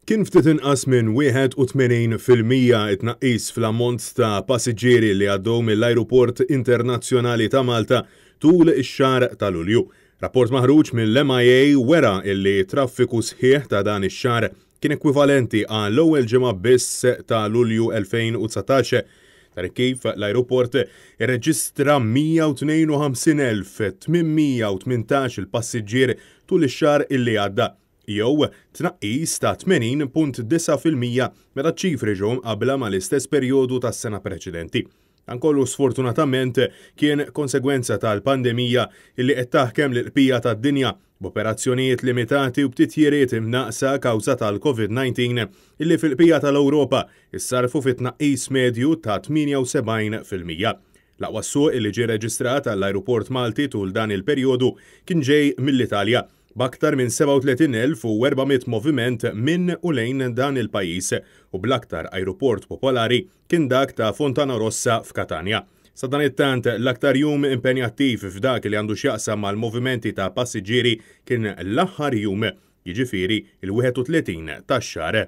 Kien ftit inqas minn 81% it-tnaqqis fl-ammont ta' passiġġieri li għaddew mill-Ajruport Internazzjonali ta' Malta tul ix-xahar ta' Lulju. Rapport maħruġ mill-MIA wera illi traffiku sħiħ ta' dan ix-xahar kien ekwivalenti għal l-ewwel ġimgħa biss ta' Lulju 2019. Dan kif l-ajruport irreġistra 152,818 il-passiġġier tul ix-xahar illi għadda, jew tnaqqis ta' 80.9% meta ċ-ċifri ġew mqabbla mal-istess perjodu tas-sena preċedenti. Dan kollu sfortunatament kien konsegwenza tal-pandemija illi qed taħkem l-bqija tad-dinja, b'operazzjonijiet limitati u b'titjiriet imnaqsa kawża tal-COVID-19 illi fil-bqija tal-Ewropa issarfu fi tnaqqis medju ta' 78%. L-aqwa suq illi ġie reġistrat għall-ajruport Malti tul dan il-perjodu kien ġej mill-Italja, b'aktar minn 37,400 moviment minn u lejn dan il-pajjiż, u bl-aktar ajruport popolari kien dak ta' Fontana Rossa f'Katanja. Sadanittant, l-aktar jum impenjattiv f'dak li għandu x'jaqsam mal-movimenti ta' passiġġieri kien l-aħħar jum, jiġifieri il-31 tax-xahar.